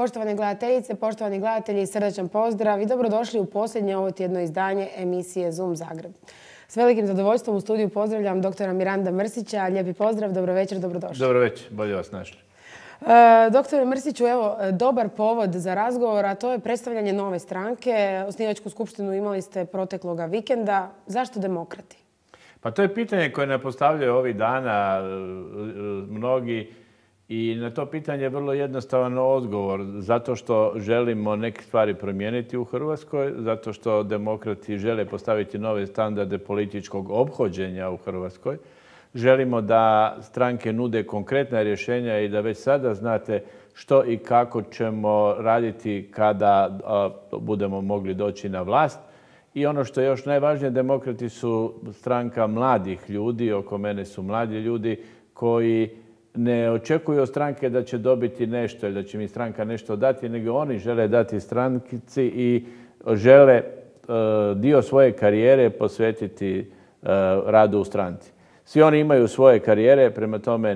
Poštovane gledateljice, poštovani gledatelji, srdačan pozdrav i dobrodošli u posljednje ovo tjedno izdanje emisije Zoom Zagreb. S velikim zadovoljstvom u studiju pozdravljam doktora Miranda Mrsića. Lijepi pozdrav, dobro večer, dobrodošli. Dobro večer, bolje vas našli. Doktore Mrsiću, evo, dobar povod za razgovor, a to je predstavljanje nove stranke. Osnivačku skupštinu imali ste protekloga vikenda. Zašto demokrati? Pa to je pitanje koje nam postavljaju ovih dana mnogi i na to pitanje je vrlo jednostavan odgovor. Zato što želimo neke stvari promijeniti u Hrvatskoj, zato što demokrati žele postaviti nove standarde političkog ophođenja u Hrvatskoj. Želimo da stranke nude konkretna rješenja i da već sada znate što i kako ćemo raditi kada budemo mogli doći na vlast. I ono što je još najvažnije, demokrati su stranka mladih ljudi, oko mene su mladi ljudi koji ne očekuju od stranke da će dobiti nešto ili da će mi stranka nešto dati, nego oni žele dati stranci i žele dio svoje karijere posvetiti radu u stranci. Svi oni imaju svoje karijere, prema tome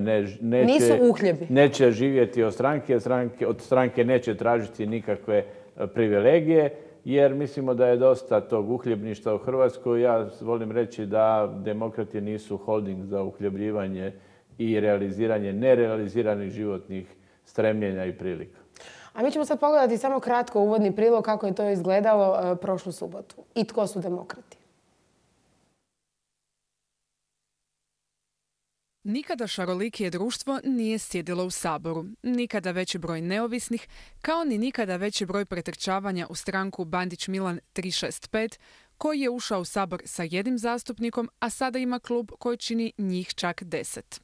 neće živjeti od stranke, od stranke neće tražiti nikakve privilegije, jer mislimo da je dosta tog uhljebništva u Hrvatskoj. Ja volim reći da demokrati nisu holding za uhljebljivanje i realiziranje nerealiziranih životnih stremljenja i prilika. A mi ćemo sad pogledati samo kratko uvodni prilog kako je to izgledalo prošlu subotu. I tko su demokrati? Nikada šarolikije društvo nije sjedilo u Saboru. Nikada veći broj neovisnih, kao ni nikada veći broj pretrčavanja u stranku Bandić Milan 365, koji je ušao u Sabor sa jednim zastupnikom, a sada ima klub koji čini njih čak 10.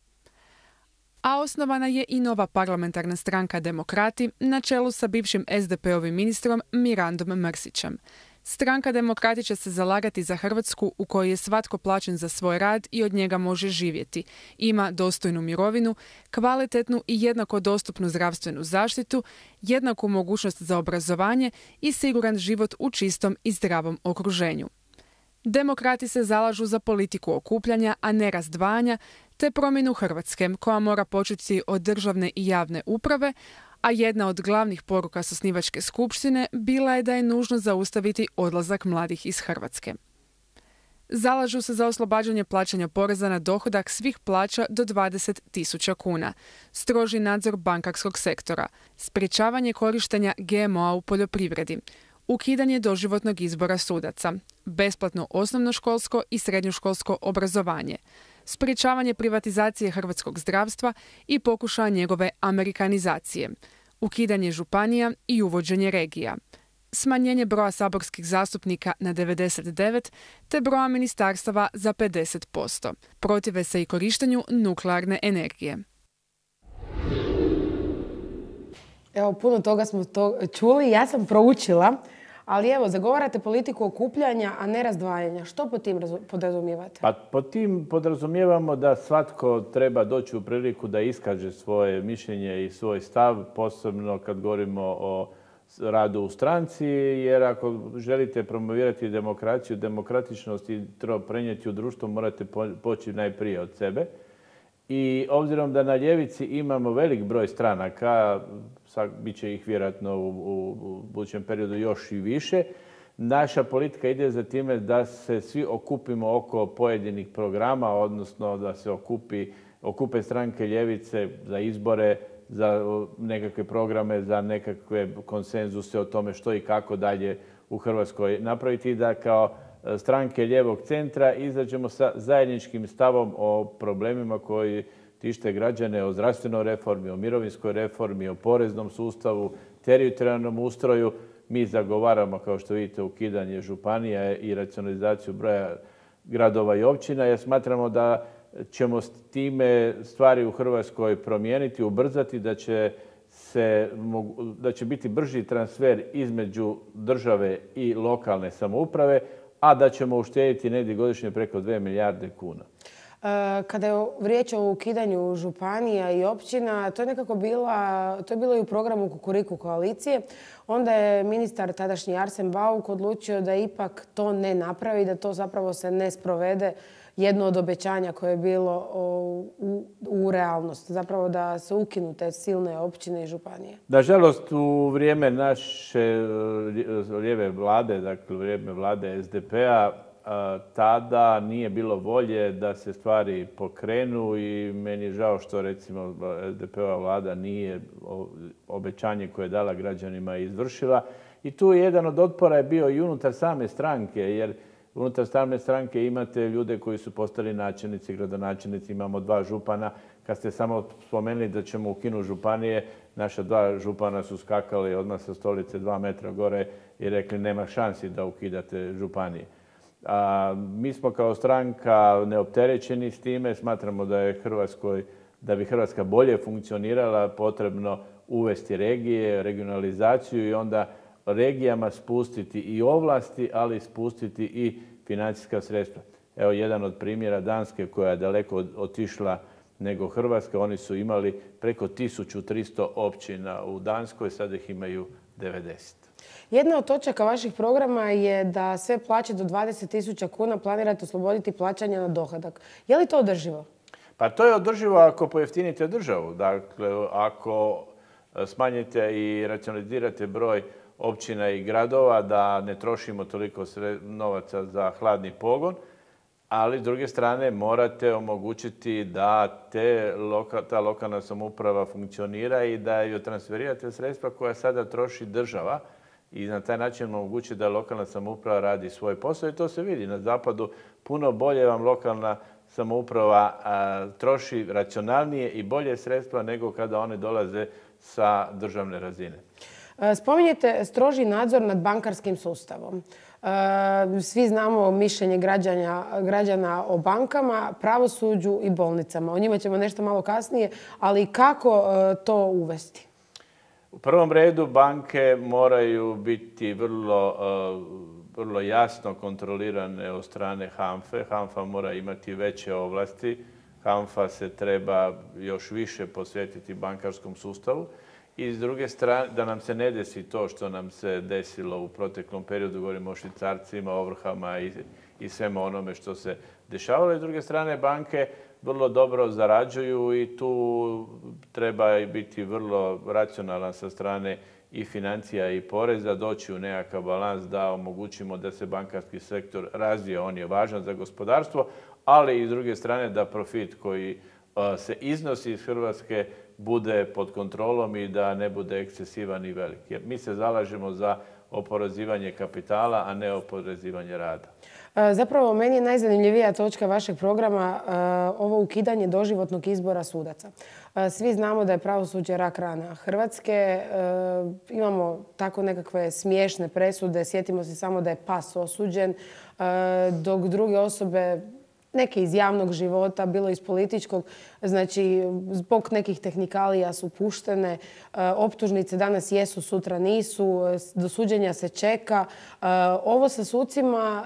A osnovana je i nova parlamentarna stranka Demokrati na čelu sa bivšim SDP-ovim ministrom Mirandom Mrsićem. Stranka Demokrati će se zalagati za Hrvatsku u kojoj je svatko plaćen za svoj rad i od njega može živjeti. Ima dostojnu mirovinu, kvalitetnu i jednako dostupnu zdravstvenu zaštitu, jednaku mogućnost za obrazovanje i siguran život u čistom i zdravom okruženju. Demokrati se zalažu za politiku okupljanja, a ne razdvajanja, te promjenu Hrvatske, koja mora početi od državne i javne uprave, a jedna od glavnih poruka s osnivačke skupštine bila je da je nužno zaustaviti odlazak mladih iz Hrvatske. Zalažu se za oslobađanje plaćanja poreza na dohodak svih plaća do 20.000 kuna, stroži nadzor bankarskog sektora, sprječavanje korištenja GMO-a u poljoprivredi, ukidanje doživotnog izbora sudaca, besplatno osnovnoškolsko i srednjoškolsko obrazovanje, sprječavanje privatizacije hrvatskog zdravstva i pokušaja njegove amerikanizacije, ukidanje županija i uvođenje regija, smanjenje broja saborskih zastupnika na 99 te broja ministarstava za 50%. Protive se i korištenju nuklearne energije. Evo, puno toga smo čuli, ja sam proučila, ali evo, zagovarate politiku okupljanja, a ne razdvajanja. Što pod tim podrazumijevate? Pa pod tim podrazumijevamo da svatko treba doći u priliku da iskaže svoje mišljenje i svoj stav, posebno kad govorimo o radu u stranci, jer ako želite promovirati demokraciju, demokratičnost i to prenijeti u društvo, morate poći najprije od sebe. I obzirom da na ljevici imamo velik broj stranaka, bit će ih vjerojatno u budućem periodu još i više, naša politika ide za time da se svi okupimo oko pojedinih programa, odnosno da se okupe stranke ljevice za izbore, za nekakve programe, za nekakve konsenzuse o tome što i kako dalje u Hrvatskoj napraviti, da kao stranke lijevog centra izađemo sa zajedničkim stavom o problemima koji tište građane, o zdravstvenoj reformi, o mirovinskoj reformi, o poreznom sustavu, teritorijalnom ustroju. Mi zagovaramo, kao što vidite, ukidanje županija i racionalizaciju broja gradova i općina, jer smatramo da ćemo s time stvari u Hrvatskoj promijeniti, ubrzati, da će biti brži transfer između države i lokalne samouprave, a da ćemo uštedjeti negdje godišnje preko 2 milijarde kuna. Kada je riječ o ukidanju županija i općina, to je bilo i u programu Kukuriku koalicije. Onda je ministar tadašnji Arsen Bauk odlučio da ipak to ne napravi, da to zapravo se ne sprovede, jedno od obećanja koje je bilo u realnost. Zapravo da se ukinu te silne općine i županije. Nažalost, u vrijeme naše lijeve vlade, dakle u vrijeme vlade SDP-a, tada nije bilo volje da se stvari pokrenu i meni je žao što recimo SDP-ova vlada nije obećanje koje je dala građanima izvršila. I tu jedan od otpora je bio i unutar same stranke, jer unutar same stranke imate ljude koji su postali načelnici, gradonačelnici, imamo 2 župana. Kad ste samo spomenuli da ćemo ukinuti županije, naša 2 župana su skakali odmah sa stolice 2 metra gore i rekli nema šansi da ukidate županije. Mi smo kao stranka neopterećeni s time, smatramo da bi Hrvatska bolje funkcionirala potrebno uvesti regije, regionalizaciju i onda regijama spustiti i ovlasti, ali spustiti i financijska sredstva. Evo jedan od primjera Danske koja je daleko otišla nego Hrvatska. Oni su imali preko 1300 općina u Danskoj, sada ih imaju 90. Jedna od točaka vaših programa je da sve plaće do 20.000 kuna planirate osloboditi plaćanja na dohodak. Je li to održivo? Pa to je održivo ako pojeftinite državu. Dakle, ako smanjite i racionalizirate broj općina i gradova, da ne trošimo toliko novaca za hladni pogon, ali s druge strane morate omogućiti da ta lokalna samouprava funkcionira i da joj transferirate sredstva koja sada troši država i na taj način omogućiti da lokalna samouprava radi svoj posao i to se vidi na zapadu. Puno bolje vam lokalna samouprava troši racionalnije i bolje sredstva nego kada one dolaze sa državne razine. Spominjete stroži nadzor nad bankarskim sustavom. Svi znamo mišljenje građana o bankama, pravosuđu i bolnicama. O njima ćemo nešto malo kasnije, ali kako to uvesti? U prvom redu banke moraju biti vrlo jasno kontrolirane od strane HANFA-e. HANFA mora imati veće ovlasti. HANFA se treba još više posvetiti bankarskom sustavu. I s druge strane, da nam se ne desi to što nam se desilo u proteklom periodu, govorimo o švicarcima, ovrhama i svemu onome što se dešavalo. I s druge strane, banke vrlo dobro zarađuju i tu treba biti vrlo racionalan sa strane i financija i poreza, doći u nekakav balans da omogućimo da se bankarski sektor razvije. On je važan za gospodarstvo, ali i s druge strane da profit koji se iznosi iz Hrvatske bude pod kontrolom i da ne bude ekscesivan i velik. Jer mi se zalažemo za oporezivanje kapitala, a ne oporezivanje rada. Zapravo, meni je najzanimljivija točka vašeg programa ovo ukidanje doživotnog izbora sudaca. Svi znamo da je pravosuđe rak rana Hrvatske. Imamo tako nekakve smiješne presude. Sjetimo se samo da je pas osuđen, dok druge osobe, neke iz javnog života, bilo iz političkog, znači zbog nekih tehnikalija su puštene. Optužnice danas jesu, sutra nisu. Do suđenja se čeka. Ovo sa sucima,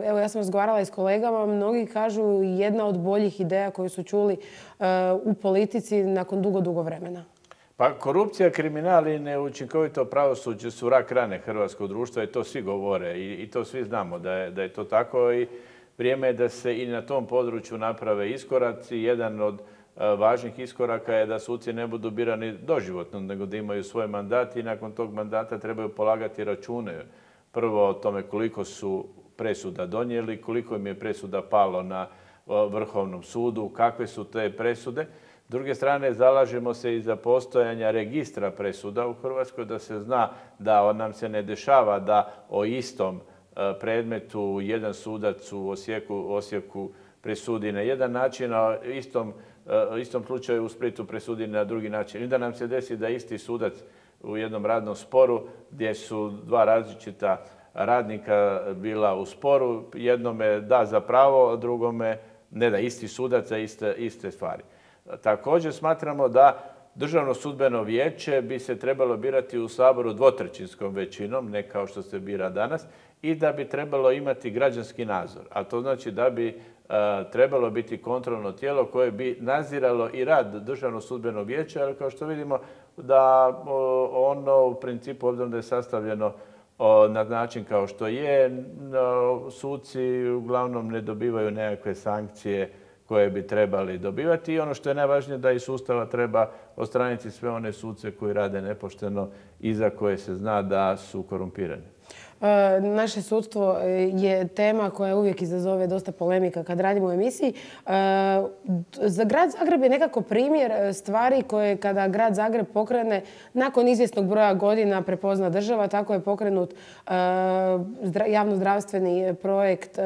evo ja sam razgovarala i s kolegama, mnogi kažu jedna od boljih ideja koju su čuli u politici nakon dugo vremena. Pa korupcija, kriminal i neučinkovito pravosuđe su rak rane hrvatskog društva i to svi govore i to svi znamo da je to tako i vrijeme je da se i na tom području naprave iskoraci. Jedan od važnih iskoraka je da suci ne budu birani doživotno, nego da imaju svoj mandat i nakon tog mandata trebaju polagati račune. Prvo o tome koliko su presuda donijeli, koliko im je presuda palo na Vrhovnom sudu, kakve su te presude. S druge strane, zalažemo se i za postojanja registra presuda u Hrvatskoj, da se zna da nam se ne dešava da o istom predmetu jedan sudac u Osijeku presudi na jedan način, a istom slučaju u Splitu presudi na drugi način. I da nam se desi da isti sudac u jednom radnom sporu gdje su 2 različita radnika bila u sporu, jednome da za pravo, a drugome ne da, isti sudac za iste stvari. Također smatramo da Državno sudbeno vijeće bi se trebalo birati u Saboru 2/3 većinom, ne kao što se bira danas, i da bi trebalo imati građanski nadzor. A to znači da bi trebalo biti kontrolno tijelo koje bi nadziralo i rad Državnog sudbenog vijeća, ali kao što vidimo da ono u principu, obzirom da je sastavljeno na način kao što je, suci uglavnom ne dobivaju nekakve sankcije koje bi trebali dobivati i ono što je najvažnije da iz sustava treba odstraniti sve one suce koji rade nepošteno i za koje se zna da su korumpirani. Naše sudstvo je tema koja uvijek izazove dosta polemika kad radimo u emisiji. Za grad Zagreb je nekako primjer stvari koje kada grad Zagreb pokrene nakon izvjesnog broja godina prepozna država. Tako je pokrenut javnozdravstveni projekt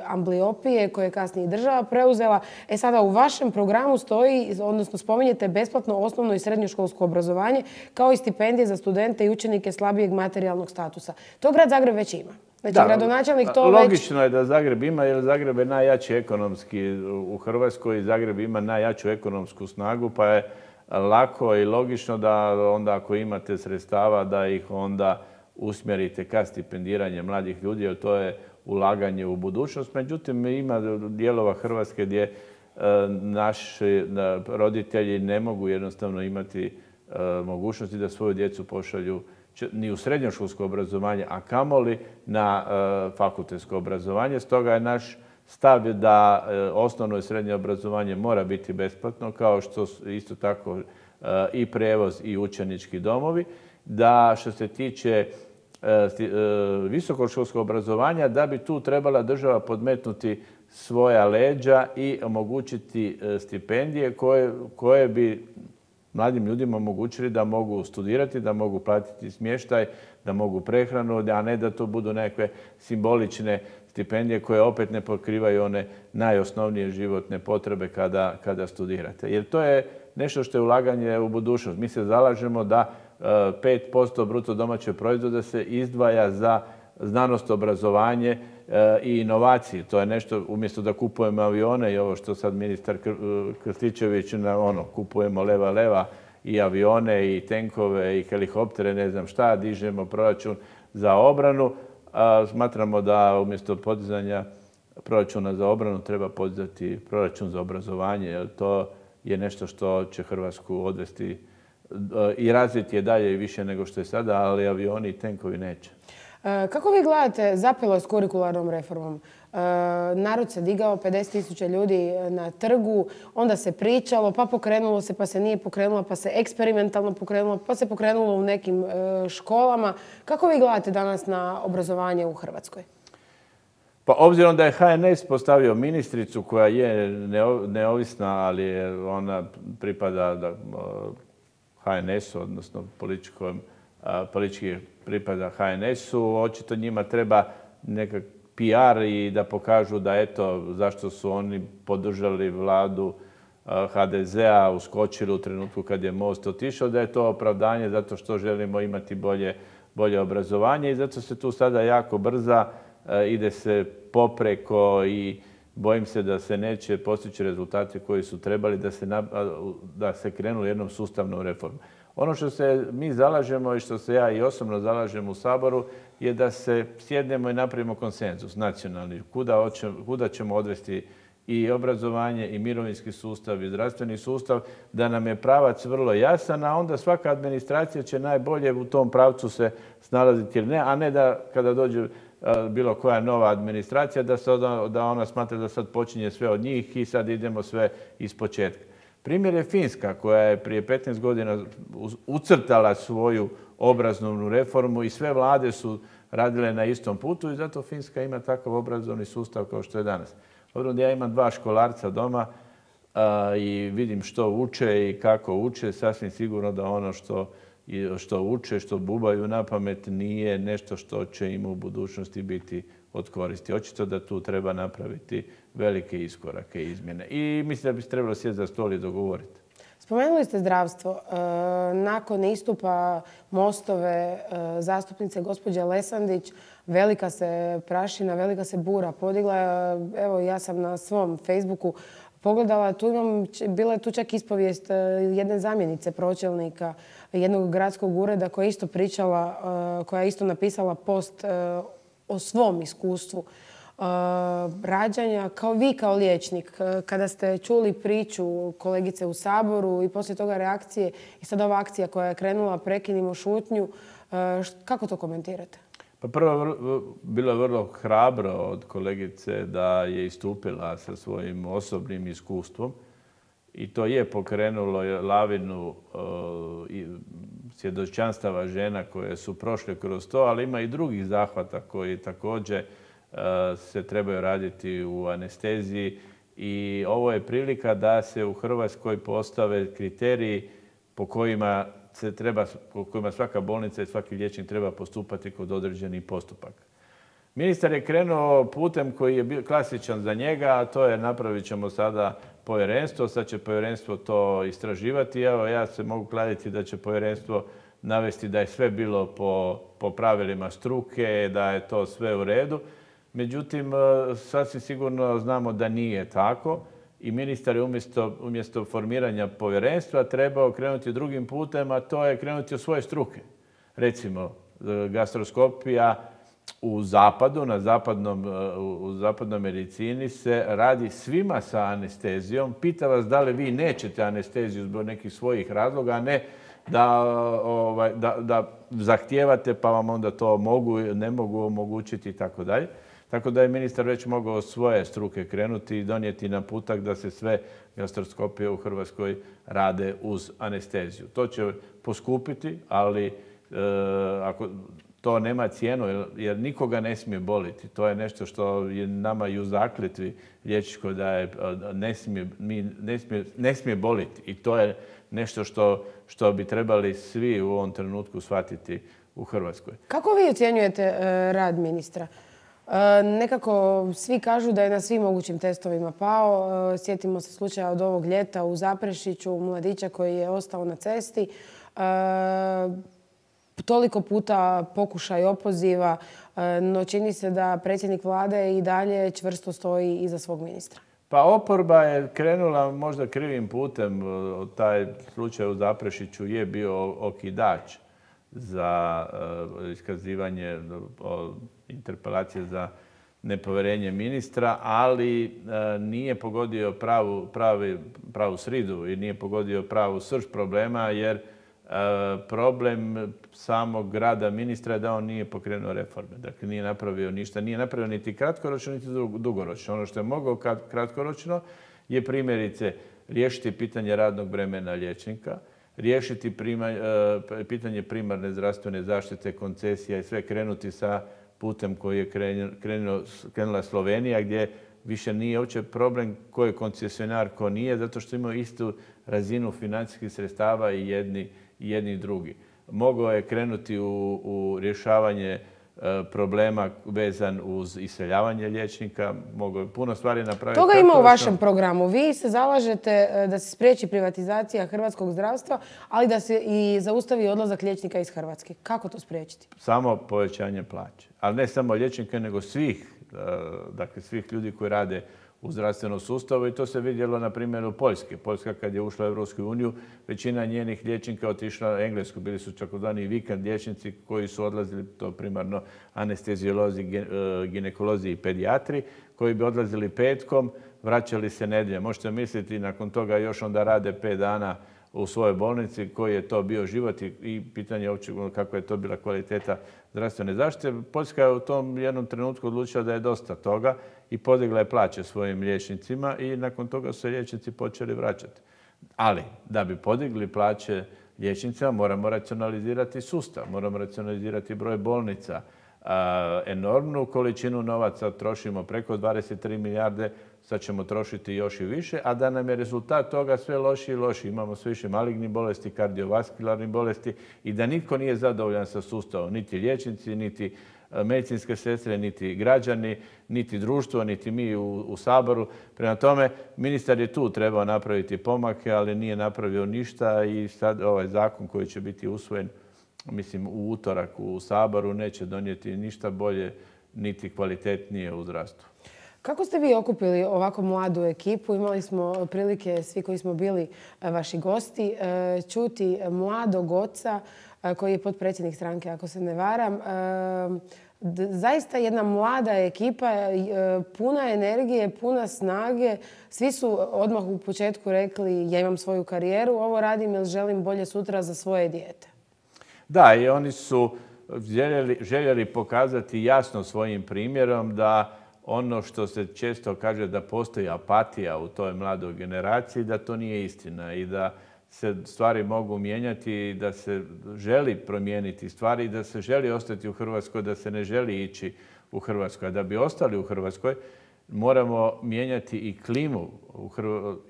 ambliopije koje je kasnije država preuzela. Sada u vašem programu stoji, odnosno spominjete besplatno osnovno i srednjoškolsko obrazovanje kao i stipendije za studente i učenike slabijeg materijalnog statusa. To grad Zagreb već ima. Znači, gradonačelnik to logično je da Zagreb ima, jer Zagreb je najjači ekonomski u Hrvatskoj i Zagreb ima najjaču ekonomsku snagu, pa je lako i logično da onda ako imate sredstava da ih onda usmjerite ka stipendiranje mladih ljudi, jer to je ulaganje u budućnost. Međutim, ima dijelova Hrvatske gdje naši roditelji ne mogu jednostavno imati mogućnosti da svoju djecu pošalju ni u srednjoškolsko obrazovanje, a kamoli na fakultetsko obrazovanje. Stoga je naš stav da osnovno i srednje obrazovanje mora biti besplatno, kao što isto tako i prijevoz i učenički domovi. Da što se tiče visokoškolskog obrazovanja, da bi tu trebala država podmetnuti svoja leđa i omogućiti stipendije koje bi mladim ljudima omogućili da mogu studirati, da mogu platiti smještaj, da mogu prehranu, a ne da to budu nekakve simbolične stipendije koje opet ne pokrivaju one najosnovnije životne potrebe kada studirate. Jer to je nešto što je ulaganje u budućnost. Mi se zalažemo da 5% bruto domaćeg proizvoda se izdvaja za znanost, obrazovanje i inovacije. To je nešto, umjesto da kupujemo avione i ovo što sad ministar Krstičević, kupujemo leva i avione i tenkove i helikoptere, ne znam šta, dižemo proračun za obranu. Smatramo da umjesto podizanja proračuna za obranu treba podizati proračun za obrazovanje, jer to je nešto što će Hrvatsku odvesti i razviti je dalje i više nego što je sada, ali avioni i tenkovi neće. Kako vi gledate, zapelo je s kurikularnom reformom? Narod se digao, 50.000 ljudi na trgu, onda se pričalo, pa pokrenulo se, pa se nije pokrenulo, pa se eksperimentalno pokrenulo, pa se pokrenulo u nekim školama. Kako vi gledate danas na obrazovanje u Hrvatskoj? Pa obzirom da je HNS postavio ministricu koja je neovisna, ali ona pripada HNS-u, odnosno politički pripada HNS-u, očito njima treba nekak PR i da pokažu da eto zašto su oni podržali vladu HDZ-a, uskočili u trenutku kad je Most otišao, da je to opravdanje zato što želimo imati bolje obrazovanje i zato se tu sada jako brza, ide se popreko i bojim se da se neće postići rezultati koji su trebali da se krenu jednom sustavnom reformom. Ono što se mi zalažemo i što se ja i osobno zalažem u Saboru je da se sjednemo i napravimo konsenzus nacionalni. Kuda ćemo odvesti i obrazovanje i mirovinski sustav i zdravstveni sustav, da nam je pravac vrlo jasan, a onda svaka administracija će najbolje u tom pravcu se snalaziti ili ne, a ne da kada dođe bilo koja nova administracija da ona smatra da sad počinje sve od njih i sad idemo sve ispočetka. Primjer je Finska koja je prije 15 godina ucrtala svoju obrazovnu reformu i sve vlade su radile na istom putu i zato Finska ima takav obrazovni sustav kao što je danas. Obzirom da ja imam 2 školarca doma i vidim što uče i kako uče, sasvim sigurno da ono što uče, što bubaju na pamet nije nešto što će im u budućnosti biti od koristi. Očito da tu treba napraviti velike iskorake i izmjene. I mislim da bi se trebalo sjeti za stol i dogovoriti. Spomenuli ste zdravstvo. Nakon istupa Mostove zastupnice gospođe Lesandić, velika se prašina, velika se bura podigla. Evo, ja sam na svom Facebooku pogledala, bila je tu čak ispovijest jedne zamjenice pročelnika jednog gradskog ureda koja je isto pričala, koja je isto napisala post o svom iskustvu rađanja. Vi kao liječnik, kada ste čuli priču kolegice u Saboru i poslije toga reakcije i sad ova akcija koja je krenula Prekinimo šutnju, kako to komentirate? Pa prvo, bilo je vrlo hrabro od kolegice da je istupila sa svojim osobnim iskustvom i to je pokrenulo lavinu svjedočanstava žena koje su prošle kroz to, ali ima i drugih zahvata koji također se trebaju raditi u anesteziji i ovo je prilika da se u Hrvatskoj postave kriteriji po kojima svaka bolnica i svaki liječnik treba postupati kod određenih postupaka. Ministar je krenuo putem koji je bio klasičan za njega, a to je napravit ćemo sada povjerenstvo, sad će povjerenstvo to istraživati. Evo, ja se mogu kladiti da će povjerenstvo navesti da je sve bilo po pravilima struke, da je to sve u redu. Međutim, sasvim sigurno znamo da nije tako i ministar je umjesto formiranja povjerenstva trebao krenuti drugim putem, a to je krenuti od svoje struke. Recimo, gastroskopija u zapadu, u zapadnoj medicini se radi svima sa anestezijom. Pita vas da li vi nećete anesteziju zbog nekih svojih razloga, a ne da zahtijevate pa vam onda to ne mogu omogućiti i tako dalje. Tako da je ministar već mogao od svoje struke krenuti i donijeti naputak da se sve gastroskopije u Hrvatskoj rade uz anesteziju. To će poskupiti, ali ako to nema cijenu jer nikoga ne smije boliti. To je nešto što je nama i u zakletvi liječničkoj da je ne smije boliti. I to je nešto što bi trebali svi u ovom trenutku shvatiti u Hrvatskoj. Kako vi ocjenjujete rad ministra? Nekako svi kažu da je na svim mogućim testovima pao. Sjetimo se slučaja od ovog ljeta u Zaprešiću, mladića koji je ostao na cesti. Toliko puta pokušaj opoziva, no čini se da predsjednik vlade i dalje čvrsto stoji iza svog ministra. Pa oporba je krenula možda krivim putem. Taj slučaj u Zaprešiću je bio okidač za iskazivanje interpelacije za nepovjerenje ministra, ali nije pogodio pravu sridu i nije pogodio pravu srž problema, jer problem samog rada ministra je da on nije pokrenuo reforme. Dakle, nije napravio ništa. Nije napravio niti kratkoročno, niti dugoročno. Ono što je mogao kratkoročno je primjerice riješiti pitanje radnog vremena liječnika, riješiti pitanje primarne zdravstvene zaštite, koncesija i sve krenuti sa putem koji je krenula Slovenija, gdje više nije uopće problem ko je koncesionar, ko nije, zato što imaju istu razinu financijskih sredstava i jedni i drugi. Mogao je krenuti u rješavanje problema vezan uz iseljavanje liječnika, mogao je puno stvari napraviti. Toga ima u vašem programu. Vi se zalažete da se spriječi privatizacija hrvatskog zdravstva, ali da se i zaustavi odlazak liječnika iz Hrvatske. Kako to spriječiti? Samo povećanje plaće. Ali ne samo liječnika, nego svih ljudi koji rade u zdravstvenom sustavu i to se vidjelo na primjeru Poljske. Poljska kad je ušla u Europsku uniju, većina njenih liječnika otišla u Englesku. Bili su takozvani vikend liječnici koji su odlazili, to primarno anesteziolozi, ginekolozi i pedijatri, koji bi odlazili petkom, vraćali se nedjeljom. Možete misliti, nakon toga još onda rade 5 dana u svojoj bolnici, koji je to bio život i pitanje uopće kako je to bila kvaliteta zdravstvene zaštite. Poljska je u tom jednom trenutku odlučila da je dosta toga i podigla je plaće svojim liječnicima i nakon toga su se liječnici počeli vraćati. Ali da bi podigli plaće liječnicima moramo racionalizirati sustav, moramo racionalizirati broj bolnica. Enormnu količinu novaca trošimo, preko 23 milijarde, sad ćemo trošiti još i više, a da nam je rezultat toga sve lošiji i lošiji. Imamo sve više malignih bolesti, kardiovaskularnih bolesti i da nitko nije zadovoljan sa sustavom, niti liječnici, niti medicinske sestre, niti građani, niti društvo, niti mi u Saboru. Prema tome, ministar je tu trebao napraviti pomake, ali nije napravio ništa i sad ovaj zakon koji će biti usvojen, mislim, u utorak u Saboru neće donijeti ništa bolje niti kvalitetnije u zdravstvu. Kako ste vi okupili ovako mladu ekipu? Imali smo prilike, svi koji smo bili vaši gosti, čuti mladog oca koji je potpredsjednik stranke, ako se ne varam, Zaista jedna mlada ekipa, puna energije, puna snage. Svi su odmah u početku rekli ja imam svoju karijeru, ovo radim jer želim bolje sutra za svoje dijete. Da, i oni su željeli pokazati jasno svojim primjerom da ono što se često kaže da postoji apatija u toj mladoj generaciji, da to nije istina i da se stvari mogu mijenjati i da se želi promijeniti stvari i da se želi ostati u Hrvatskoj, da se ne želi ići u Hrvatskoj. A da bi ostali u Hrvatskoj moramo mijenjati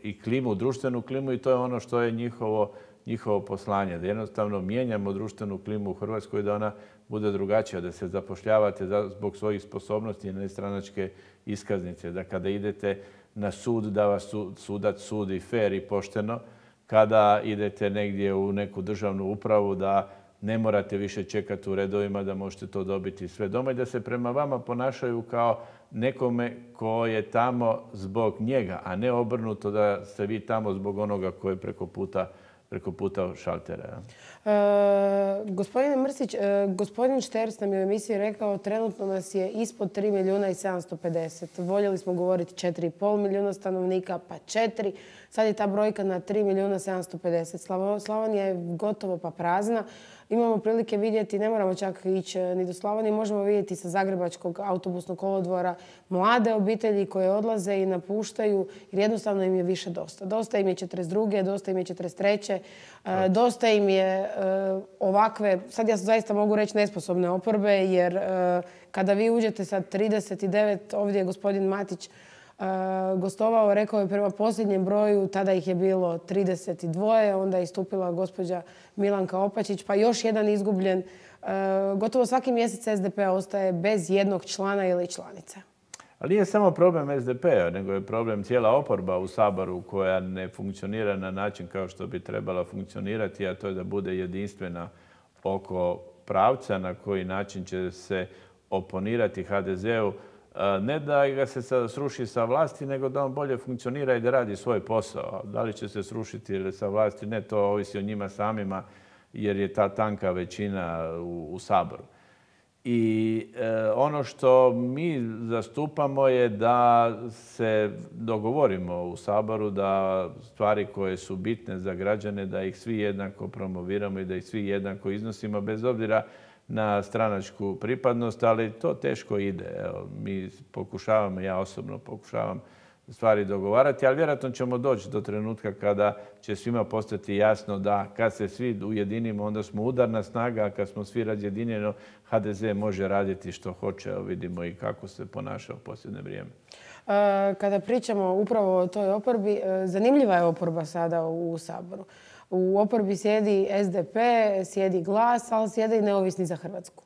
i klimu, društvenu klimu i to je ono što je njihovo poslanje. Da jednostavno mijenjamo društvenu klimu u Hrvatskoj, da ona bude drugačija, da se zapošljavate zbog svojih sposobnosti i nestranačke iskaznice. Da kada idete na sud, da vas sudac sudi fer i pošteno. Kada idete negdje u neku državnu upravu, da ne morate više čekati u redovima, da možete to dobiti sve doma i da se prema vama ponašaju kao nekome ko je tamo zbog njega, a ne obrnuto da ste vi tamo zbog onoga koji je preko puta šaltera. Gospodine Mrsić, gospodin Šterc nam je u emisiji rekao trenutno nas je ispod 3 milijuna i 750. Voljeli smo govoriti 4,5 milijuna stanovnika, pa 4. Sad je ta brojka na 3 milijuna 750. Slavonija je gotovo pa prazna. Imamo prilike vidjeti, ne moramo čak ići ni do Slavonije, možemo vidjeti sa Zagrebačkog autobusnog kolodvora mlade obitelji koje odlaze i napuštaju jer jednostavno im je više dosta. Dosta im je 42. Dosta im je 43. Dosta im je ovakve, sad ja zaista mogu reći nesposobne oporbe jer kada vi uđete sa 39, ovdje je gospodin Matić gostovao, rekao je prema posljednjem broju, tada ih je bilo 32, onda je istupila gospođa Milanka Opačić, pa još jedan izgubljen. Gotovo svaki mjesec SDP ostaje bez jednog člana ili članice. Ali nije samo problem SDP-a, nego je problem cijela oporba u Saboru koja ne funkcionira na način kao što bi trebala funkcionirati, a to je da bude jedinstvena oko pravca na koji način će se oponirati HDZ-u. Ne da ga se sruši sa vlasti, nego da on bolje funkcionira i da radi svoj posao. Da li će se srušiti ili sa vlasti, ne, to ovisi o njima samima, jer je ta tanka većina u Saboru. I ono što mi zastupamo je da se dogovorimo u Saboru da stvari koje su bitne za građane, da ih svi jednako promoviramo i da ih svi jednako iznosimo, bez obzira na stranačku pripadnost, ali to teško ide. Evo, mi pokušavamo, ja osobno pokušavam stvari dogovarati, ali vjerojatno ćemo doći do trenutka kada će svima postati jasno da kad se svi ujedinimo, onda smo udarna snaga, a kad smo svi razjedinjeni, HDZ može raditi što hoće. Evo, vidimo i kako se ponaša u posljednje vrijeme. Kada pričamo upravo o toj oporbi, zanimljiva je oporba sada u Saboru. U oporbi sjedi SDP, sjedi Glas, ali sjede i Neovisni za Hrvatsku.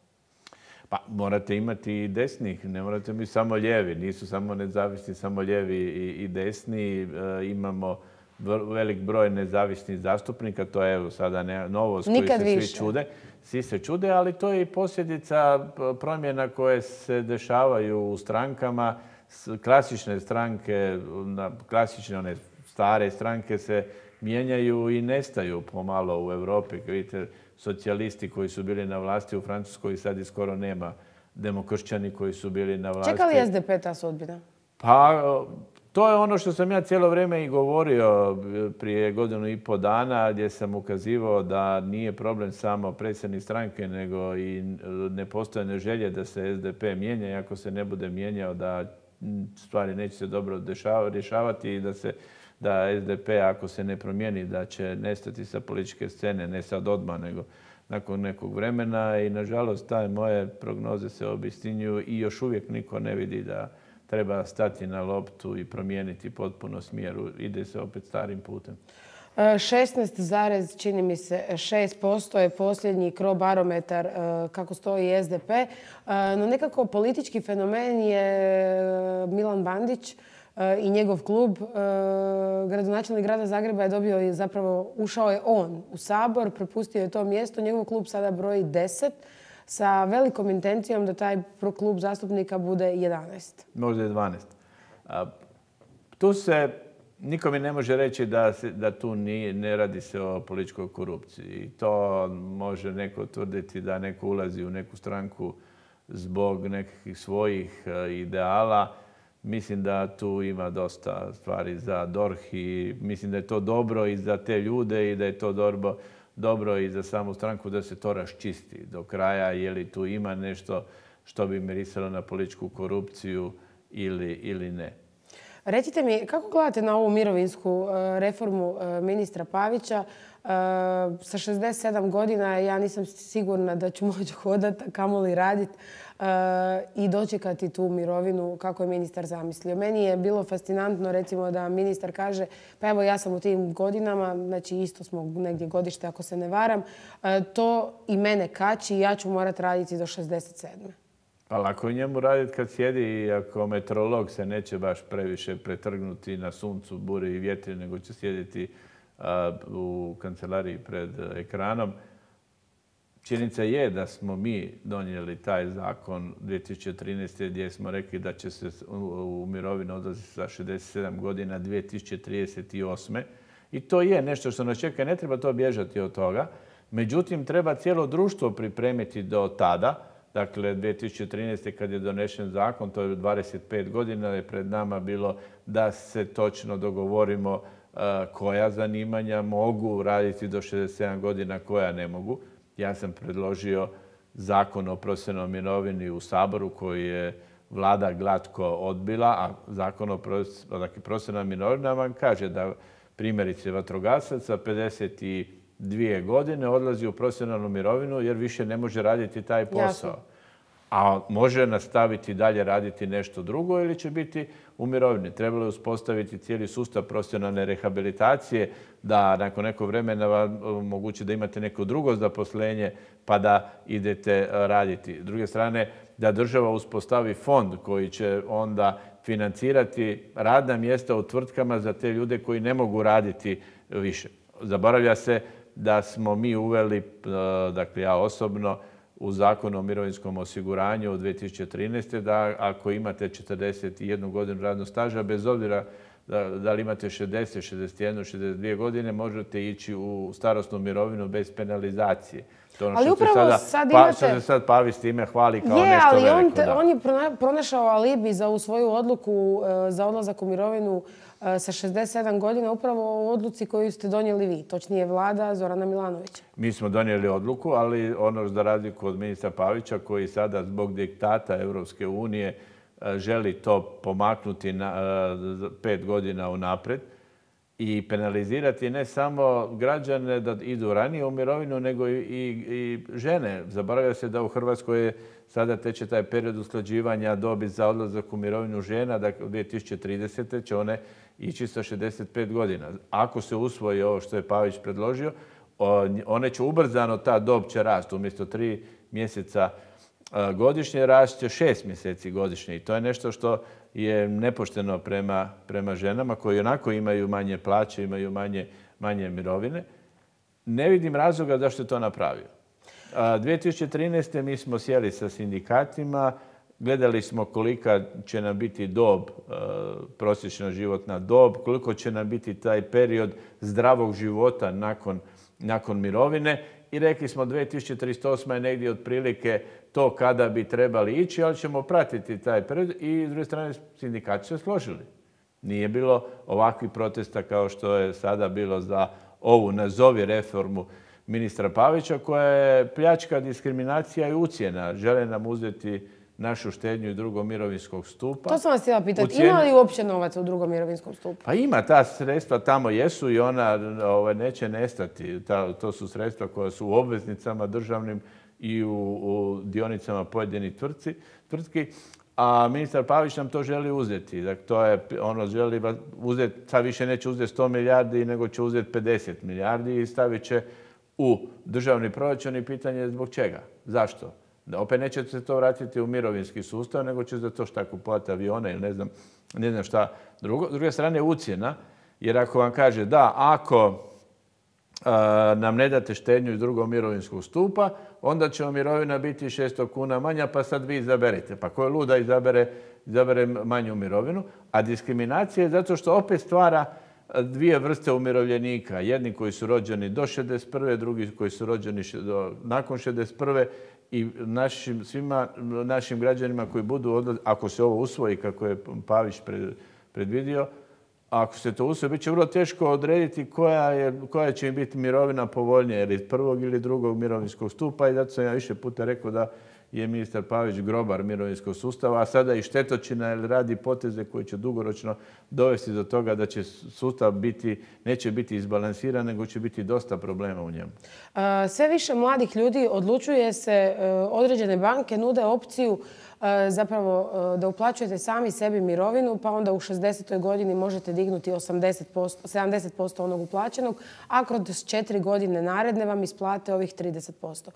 Pa morate imati i desnih, ne morate biti samo lijevi. Nisu samo nezavisni, samo lijevi i desni. Imamo velik broj nezavisnih zastupnika, to je evo sada novost koju se svi čude. Svi se čude, ali to je i posljedica promjena koje se dešavaju u strankama. Klasične stranke, klasične one stare stranke se mijenjaju i nestaju pomalo u Europi. Vidite, socijalisti koji su bili na vlasti u Francuskoj sad i skoro nema. Demokršćani koji su bili na vlasti. Čeka li SDP ta sudbina? Pa, to je ono što sam ja cijelo vrijeme i govorio prije 1,5 godina, gdje sam ukazivao da nije problem samo predsjednik stranke, nego i nepostojane želje da se SDP mijenja. I ako se ne bude mijenjao, da stvari neće se dobro rješavati i da SDP, ako se ne promijeni, da će nestati sa političke scene, ne sad odmah, nego nakon nekog vremena. I nažalost, te moje prognoze se obistinjuju i još uvijek niko ne vidi da treba stati na loptu i promijeniti potpuno smjeru. Ide se opet starim putem. 16, čini mi se 6% je posljednji Crobarometar kako stoji SDP. No nekako politički fenomen je Milan Bandić i njegov klub. Gradonačelnik grada Zagreba je dobio i zapravo ušao je on u Sabor, prepustio je to mjesto. Njegov klub sada broji 10 sa velikom intencijom da taj klub zastupnika bude 11. Možda je 12. Tu se niko mi ne može reći da tu ne radi se o političkoj korupciji. I to može neko tvrditi da neko ulazi u neku stranku zbog nekih svojih ideala. Mislim da tu ima dosta stvari za DORH i mislim da je to dobro i za te ljude i da je to dobro i za samu stranku da se to raščisti do kraja. Je li tu ima nešto što bi mirisalo na političku korupciju ili ne. Recite mi, kako gledate na ovu mirovinsku reformu ministra Pavića? Sa 67 godina ja nisam sigurna da ću moći hodati, a kamoli raditi i dočekati tu mirovinu kako je ministar zamislio. Meni je bilo fascinantno recimo da ministar kaže pa evo ja sam u tim godinama, znači isto smo negdje godište ako se ne varam, to i mene kači i ja ću morati raditi do 67. Pa lako je njemu raditi kad sjedi i ako meteorolog se neće baš previše pretrgnuti na suncu, buri i vjetri, nego će sjediti u kancelariji pred ekranom. Činjenica je da smo mi donijeli taj zakon 2013. gdje smo rekli da će se u mirovinu odlaziti sa 67 godina 2038. I to je nešto što nas čeka. Ne treba to bježati od toga. Međutim, treba cijelo društvo pripremiti do tada. Dakle, 2013. kad je donešen zakon, to je 25 godina, je pred nama bilo da se točno dogovorimo koja zanimanja mogu raditi do 67 godina, koja ne mogu. Ja sam predložio zakon o profesionalnoj mirovini u Saboru koji je vlada glatko odbila, a zakon o profesionalnoj mirovini vam kaže da primjerice vatrogasac sa 52 godine odlazi u profesionalnu mirovinu jer više ne može raditi taj posao. Jasno. A može nastaviti dalje raditi nešto drugo ili će biti u mirovini. Trebalo je uspostaviti cijeli sustav profesionalne rehabilitacije da nakon nekog vremena vam omogući da imate neko drugo zaposlenje pa da idete raditi. S druge strane, da država uspostavi fond koji će onda financirati radna mjesta u tvrtkama za te ljude koji ne mogu raditi više. Zaboravlja se da smo mi uveli, dakle ja osobno, u Zakonu o mirovinskom osiguranju od 2013. da ako imate 41 godinu radnog staža, bez obzira da li imate 60, 61, 62 godine, možete ići u starosnu mirovinu bez penalizacije. To ono ali što upravo sad imate... Što se sad Pavić s time hvali kao nešto veliko. On je pronašao alibi za ovu svoju odluku za odlazak u mirovinu sa 67 godina upravo u odluci koju ste donijeli vi, točnije vlada Zorana Milanovića. Mi smo donijeli odluku, ali ono za razliku od ministra Pavića koji sada zbog diktata Europske unije želi to pomaknuti na 5 godina unaprijed i penalizirati ne samo građane da idu ranije u mirovinu, nego i žene. Zaboravlja se da u Hrvatskoj je sada teče taj period usklađivanja dobi za odlazak u mirovinu žena, dakle u 2030. će one ići sa 65 godina. Ako se usvoji ovo što je Pavić predložio, one će ubrzano, ta dob će rasti. Umjesto 3 mjeseca godišnje rast će 6 mjeseci godišnje. I to je nešto što je nepošteno prema ženama koji onako imaju manje plaće, imaju manje mirovine. Ne vidim razloga zašto je to napravio. 2013. mi smo sjeli sa sindikatima, gledali smo kolika će nam biti dob, prosječna životna dob, koliko će nam biti taj period zdravog života nakon mirovine i rekli smo 2038. je negdje otprilike to kada bi trebali ići, ali ćemo pratiti taj period i s druge strane sindikati se složili. Nije bilo ovakvih protesta kao što je sada bilo za ovu nazovi reformu ministra Pavića koja je pljačka, diskriminacija i ucjena. Žele nam uzeti našu štednju i drugog mirovinskog stupa. To sam vas htjela pitati. Ima li uopće novaca u drugom mirovinskom stupu? Pa ima, ta sredstva tamo jesu i ona neće nestati. To su sredstva koja su u obveznicama državnim i u dionicama pojedinih tvrtki. A ministar Pavić nam to želi uzeti. Dakle, to je, ono želi uzeti, sad više neće uzeti 100 milijardi, nego će uzeti 50 milijardi i stavit će u državni proračun i pitanje je zbog čega. Zašto? Da opet neće se to vratiti u mirovinski sustav, nego će za to šta kupovati avione ili ne znam šta drugo. S druge strane ucjena, jer ako vam kaže da, ako nam ne date štednju iz drugog mirovinskog stupa, onda će mirovina biti 600 kuna manja, pa sad vi izaberite. Pa ko je lud da izabere manju mirovinu? A diskriminacija je zato što opet stvara dvije vrste umirovljenika. Jedni koji su rođeni do 61. drugi koji su rođeni nakon 61. i svima našim građanima koji budu, ako se ovo usvoji kako je Pavić predvidio, ako se to usvoji, bit će vrlo teško odrediti koja će im biti mirovina povoljnija, ili iz prvog ili drugog mirovinskog stupa, i zato sam ja više puta rekao da je ministar Pavić grobar mirovinskog sustava, a sada i štetočina, jer radi poteze koje će dugoročno dovesti do toga da će sustav neće biti izbalansiran, nego će biti dosta problema u njemu. Sve više mladih ljudi odlučuje se, određene banke nude opciju zapravo da uplaćujete sami sebi mirovinu, pa onda u 60. godini možete dignuti 70% onog uplaćenog, a kroz 4 godine naredne vam isplate ovih 30%.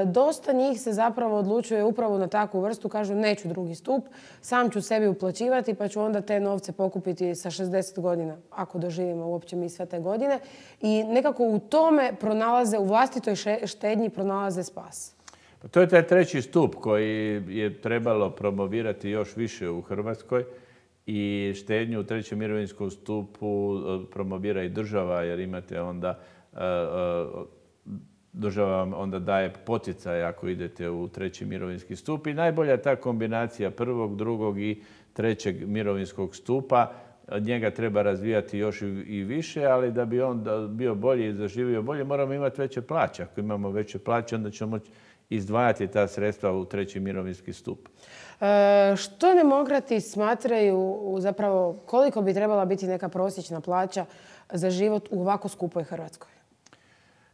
Dosta njih se zapravo odlučuje upravo na takvu vrstu, kažu neću drugi stup, sam ću sebi uplaćivati pa ću onda te novce pokupiti sa 60 godina, ako doživimo uopće mi sve te godine. I nekako u tome pronalaze, u vlastitoj štednji pronalaze spas. To je taj treći stup koji je trebalo promovirati još više u Hrvatskoj, i štednju u trećem mirovinskom stupu promovira i država, jer imate onda, država vam onda daje poticaj ako idete u treći mirovinski stup, i najbolja je ta kombinacija prvog, drugog i trećeg mirovinskog stupa. Njega treba razvijati još i više, ali da bi on bio bolji i zaživio bolje, moramo imati veće plaće. Ako imamo veće plaće, onda ćemo moći izdvajati ta sredstva u treći mirovinski stup. Što demokrati smatraju, zapravo koliko bi trebala biti neka prosječna plaća za život u ovako skupoj Hrvatskoj?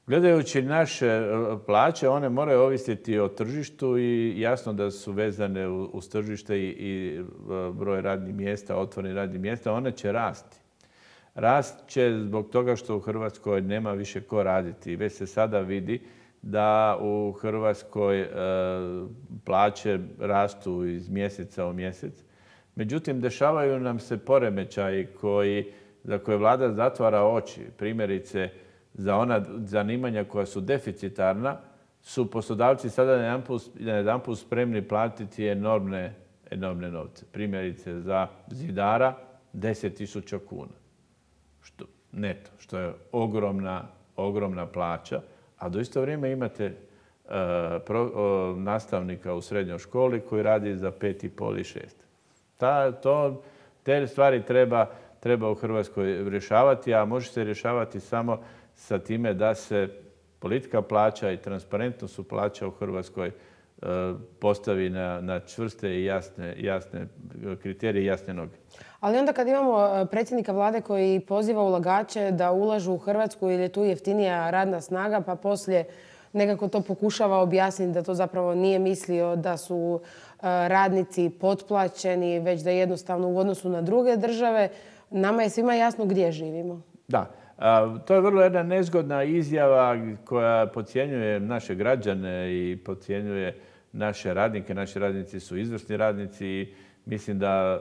Gledajući naše plaće, one moraju ovisiti o tržištu, i jasno da su vezane uz tržište i broj radnih mjesta, otvorenih radnih mjesta, one će rasti. Rast će zbog toga što u Hrvatskoj nema više ko raditi. Već se sada vidi da u Hrvatskoj plaće rastu iz mjeseca u mjesec. Međutim, dešavaju nam se poremećaji za koje vlada zatvara oči. Primjerice, za ona zanimanja koja su deficitarna su poslodavci sada najedanput spremni platiti enormne novce. Primjerice, za zidara 10.000 kuna. Neto, što je ogromna plaća. A do isto vrijeme imate nastavnika u srednjoj školi koji radi za 5,5 i 6. Te stvari treba u Hrvatskoj rješavati, a može se rješavati samo sa time da se politika plaća i transparentnost plaća u Hrvatskoj postavi na čvrste i jasne kriterije i jasne noge. Ali onda kad imamo predsjednika vlade koji poziva ulagače da ulažu u Hrvatsku jer je tu jeftinija radna snaga, pa poslije nekako to pokušava objasniti da to zapravo nije mislio da su radnici potplaćeni, već da jednostavno u odnosu na druge države, nama je svima jasno gdje živimo. Da. To je vrlo jedna nezgodna izjava koja podcjenjuje naše građane i podcjenjuje naše radnike. Naši radnici su izvrsni radnici i mislim da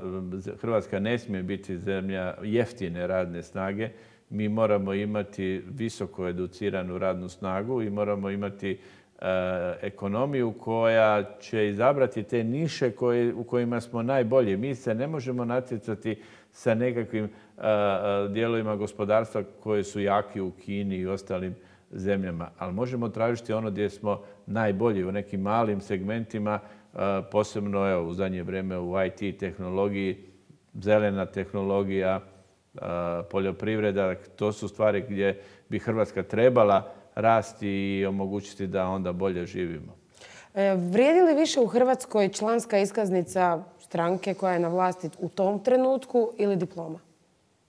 Hrvatska ne smije biti zemlja jeftine radne snage. Mi moramo imati visoko educiranu radnu snagu i moramo imati ekonomiju koja će izabrati te niše u kojima smo najbolji. Mi se ne možemo natjecati sa nekakvim dijelovima gospodarstva koje su jaki u Kini i ostalim zemljama, ali možemo tražiti ono gdje smo najbolji u nekim malim segmentima, posebno u zadnje vrijeme u IT tehnologiji, zelena tehnologija, poljoprivreda. To su stvari gdje bi Hrvatska trebala rasti i omogućiti da onda bolje živimo. Vrijedi li više u Hrvatskoj članska iskaznica stranke koja je na vlasti u tom trenutku ili diploma?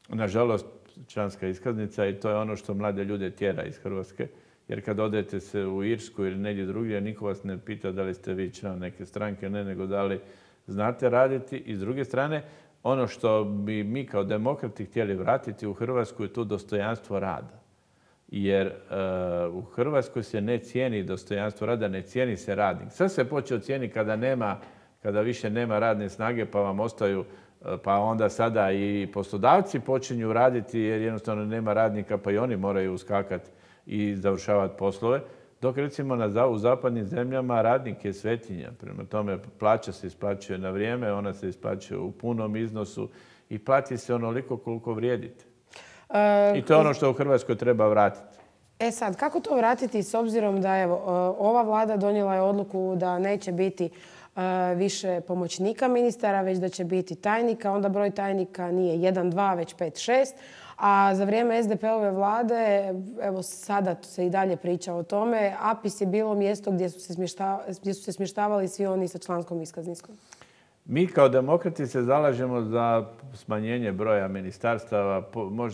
Nažalost, članska iskaznica, i to je ono što mlade ljude tjera iz Hrvatske. Jer kad odete se u Irsku ili negdje drugdje, niko vas ne pita da li ste vi član neke stranke, nego da li znate raditi. I s druge strane, ono što bi mi kao demokrati htjeli vratiti u Hrvatsku je tu dostojanstvo rada. Jer u Hrvatskoj se ne cijeni dostojanstvo rada, ne cijeni se radnik. Sve se počeo cijeniti kada više nema radne snage pa vam ostaju, pa onda sada i poslodavci počinju raditi jer jednostavno nema radnika pa i oni moraju uskakati i završavati poslove. Dok recimo u zapadnim zemljama radnik je svetinja. Prema tome plaća se isplaćuje na vrijeme, ona se isplaćuje u punom iznosu i plati se onoliko koliko vrijedite. I to je ono što u Hrvatskoj treba vratiti. E sad, kako to vratiti s obzirom da evo, ova vlada donijela je odluku da neće biti više pomoćnika ministara, već da će biti tajnika. Onda broj tajnika nije 1, 2, već 5, 6. A za vrijeme SDP-ove vlade, evo sada se i dalje priča o tome, APIS je bilo mjesto gdje su se smještavali svi oni sa članskom iskaznicom. Mi kao demokrati se zalažemo za smanjenje broja ministarstava.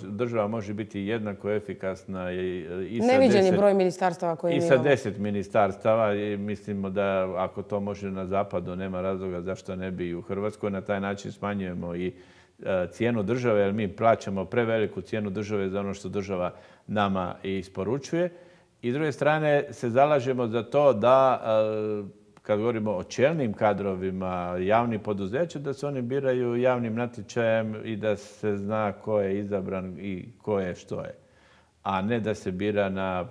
Država može biti jednako efikasna i sa Neviđen je broj ministarstava koje i imamo. sa 10 ministarstava. I mislimo da ako to može na zapadu, nema razloga zašto ne bi i u Hrvatskoj. Na taj način smanjujemo i cijenu države, jer mi plaćamo preveliku cijenu države za ono što država nama isporučuje. I s druge strane se zalažemo za to da kad govorimo o čelnim kadrovima javnih poduzeća, da se oni biraju javnim natječajem i da se zna ko je izabran i ko je što je. A ne da se bira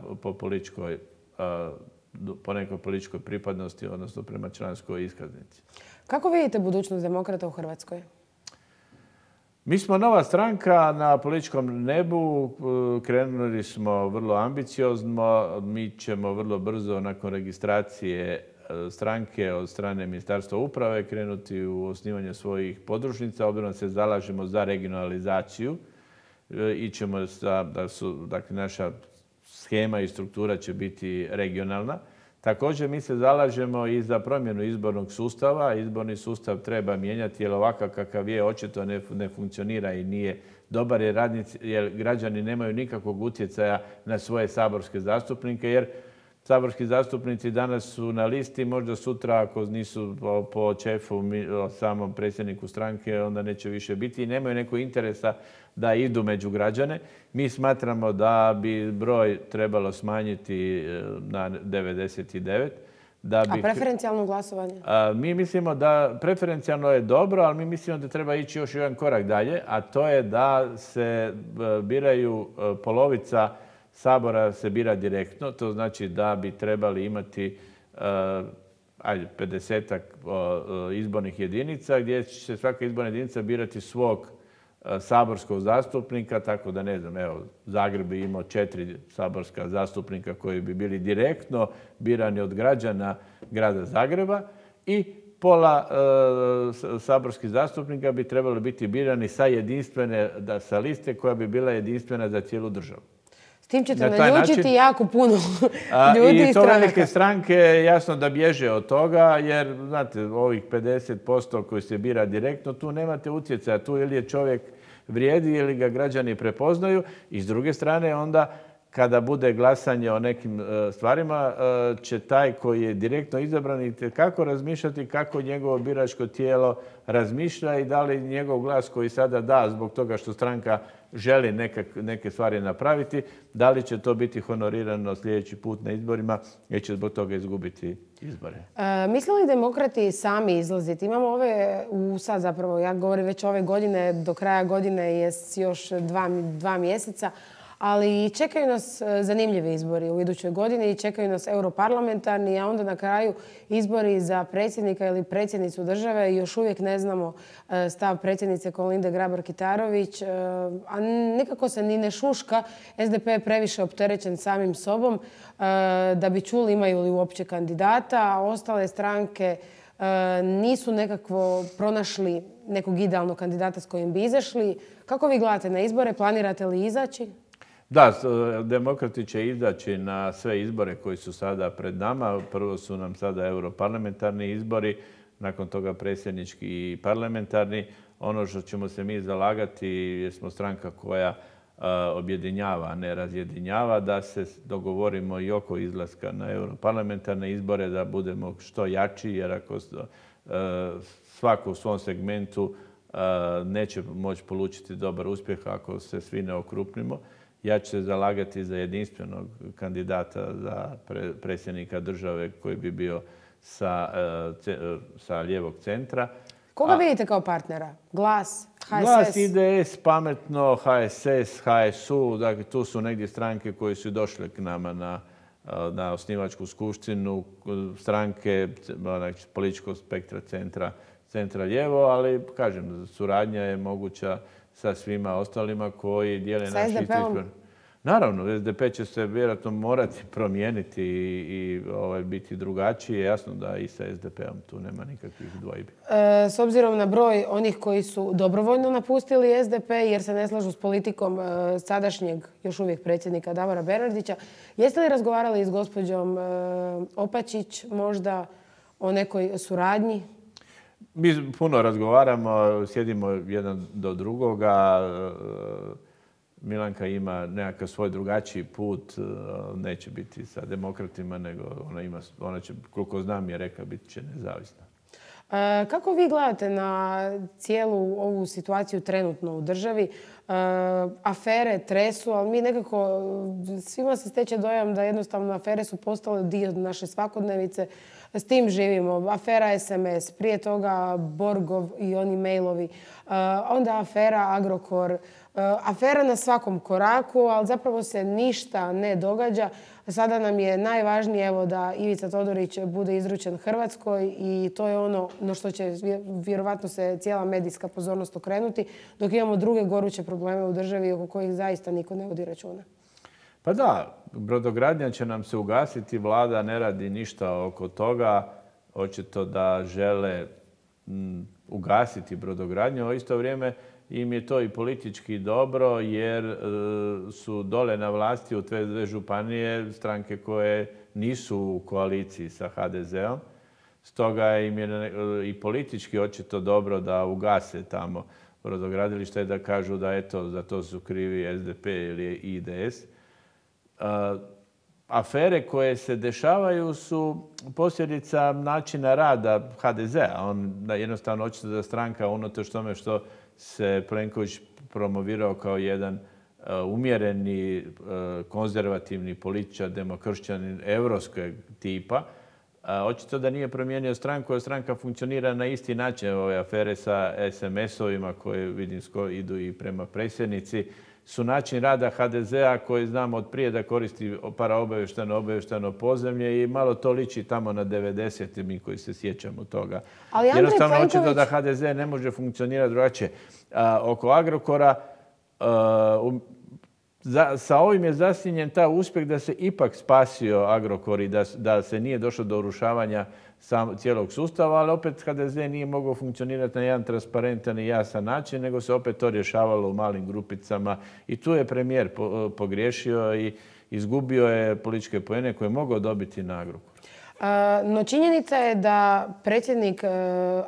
po nekoj političkoj pripadnosti, odnosno prema članskoj iskaznici. Kako vidite budućnost demokrata u Hrvatskoj? Mi smo nova stranka na političkom nebu, krenuli smo vrlo ambiciozno, mi ćemo vrlo brzo nakon registracije stranke od strane Ministarstva uprave krenuti u osnivanje svojih podružnica, obzirom se zalažemo za regionalizaciju. Dakle, naša shema i struktura će biti regionalna. Također mi se zalažemo i za promjenu izbornog sustava. Izborni sustav treba mijenjati jer ovakav kakav je očito ne funkcionira i nije dobar jer građani nemaju nikakvog utjecaja na svoje saborske zastupnike jer saborski zastupnici danas su na listi, možda sutra ako nisu po šefu, samom predsjedniku stranke, onda neće više biti i nemaju nekog interesa da idu među građane. Mi smatramo da bi broj trebalo smanjiti na 99. A preferencijalno glasovanje? Mi mislimo da preferencijalno je dobro, ali mi mislimo da treba ići još jedan korak dalje, a to je da se biraju polovica Sabora se bira direktno, to znači da bi trebali imati 50-ak izbornih jedinica gdje će se svaka izborna jedinica birati svog saborskog zastupnika, tako da ne znam, evo Zagreb bi imao 4 saborska zastupnika koji bi bili direktno birani od građana grada Zagreba i pola saborskih zastupnika bi trebali biti birani sa liste koja bi bila jedinstvena za cijelu državu. S tim ćete naljutiti jako puno ljudi i to velike stranke jasno da bježe od toga jer, znate, ovih 50% koji se bira direktno, tu nemate utjecaja. Tu ili je čovjek vrijedi ili ga građani prepoznaju i s druge strane onda kada bude glasanje o nekim stvarima će taj koji je direktno izabran itekako razmišljati kako njegovo biračko tijelo razmišlja i da li njegov glas koji sada da zbog toga što stranka želi neke stvari napraviti, da li će to biti honorirano sljedeći put na izborima jer će zbog toga izgubiti izbore. Misle li demokrati sami izlaziti? Imamo sad zapravo, ja govorim već ove godine, do kraja godine je još 2 mjeseca, ali čekaju nas zanimljivi izbori u idućoj godini i čekaju nas europarlamentarni, a onda na kraju izbori za predsjednika ili predsjednicu države. Još uvijek ne znamo stav predsjednice Kolinde Grabar-Kitarović, a nikako se ni ne šuška. SDP je previše opterećen samim sobom da bi čuli imaju li uopće kandidata, a ostale stranke nisu nekakvo pronašli nekog idealnog kandidata s kojim bi izašli. Kako vi gledate na izbore? Planirate li izaći? Da, demokrati će izaći na sve izbore koji su sada pred nama. Prvo su nam sada europarlamentarni izbori, nakon toga predsjednički i parlamentarni. Ono što ćemo se mi zalagati, jer smo stranka koja objedinjava, a ne razjedinjava, da se dogovorimo i oko izlaska na europarlamentarne izbore, da budemo što jači, jer ako svako u svom segmentu neće moći polučiti dobar uspjeh ako se svi ne okrupnimo. Ja ću se zalagati za jedinstvenog kandidata za predsjednika države koji bi bio sa lijevog centra. Koga vidite kao partnera? Glas, HSS? Glas, IDS, Pametno, HSS, HSU. Dakle, tu su negdje stranke koje su došle k nama na osnivačku skupštinu, stranke političkog spektra centra lijevo, ali kažem, suradnja je moguća sa svima ostalima koji dijele naš isti. Naravno, SDP će se vjerojatno morati promijeniti i biti drugačiji. Jasno da i sa SDP-om tu nema nikakvih dvojbi. S obzirom na broj onih koji su dobrovoljno napustili SDP jer se ne slažu s politikom sadašnjeg još uvijek predsjednika Davora Bernardića, jeste li razgovarali s gospođom Opačić možda o nekoj suradnji? Mi puno razgovaramo, sjedimo jedan do drugoga. Milanka ima nekakav svoj drugačiji put, neće biti sa demokratima, nego ona će, koliko znam je rekla, bit će nezavisna. Kako vi gledate na cijelu ovu situaciju trenutno u državi? Afere tresu, ali mi nekako, svima se steče dojam da jednostavno afere su postale dio naše svakodnevice. S tim živimo. Afera SMS, prije toga Borgov i oni mailovi, onda afera Agrokor, afera na svakom koraku, ali zapravo se ništa ne događa. Sada nam je najvažnije evo, da Ivica Todorić bude izručen Hrvatskoj i to je ono na što će vjerovatno se cijela medijska pozornost okrenuti, dok imamo druge goruće probleme u državi oko kojih zaista niko ne vodi računa. Pa da, brodogradnja će nam se ugasiti, vlada ne radi ništa oko toga. Očito da žele ugasiti brodogradnju, a u isto vrijeme im je to i politički dobro jer su dole na vlasti u te dve županije stranke koje nisu u koaliciji sa HDZ-om. Stoga im je i politički očito dobro da ugase tamo brodogradilište i da kažu da eto, za to su krivi SDP ili IDS. Afere koje se dešavaju su posljedica načina rada HDZ-a. Jednostavno očito da stranka unatoč tome što se Plenković promovirao kao jedan umjereni, konzervativni političar, demokršćanin, europskog tipa, očito da nije promijenio stranku, jer stranka funkcionira na isti način. Ove afere sa SMS-ovima koje vidim idu i prema predsjednici su način rada HDZ-a koji znamo od prije da koristi paraobavještajno podzemlje i malo to liči tamo na 90. mi koji se sjećamo toga. Ali jednostavno očito da HDZ ne može funkcionirati drugačije. Oko Agrokora sa ovim je zasjenjen ta uspjeh da se ipak spasio Agrokor i da se nije došlo do urušavanja cijelog sustava, ali opet HDZ nije mogao funkcionirati na jedan transparentan i jasan način, nego se opet to rješavalo u malim grupicama. I tu je premijer pogriješio i izgubio je političke poene koje je mogao dobiti na Agrokoru. No činjenica je da predsjednik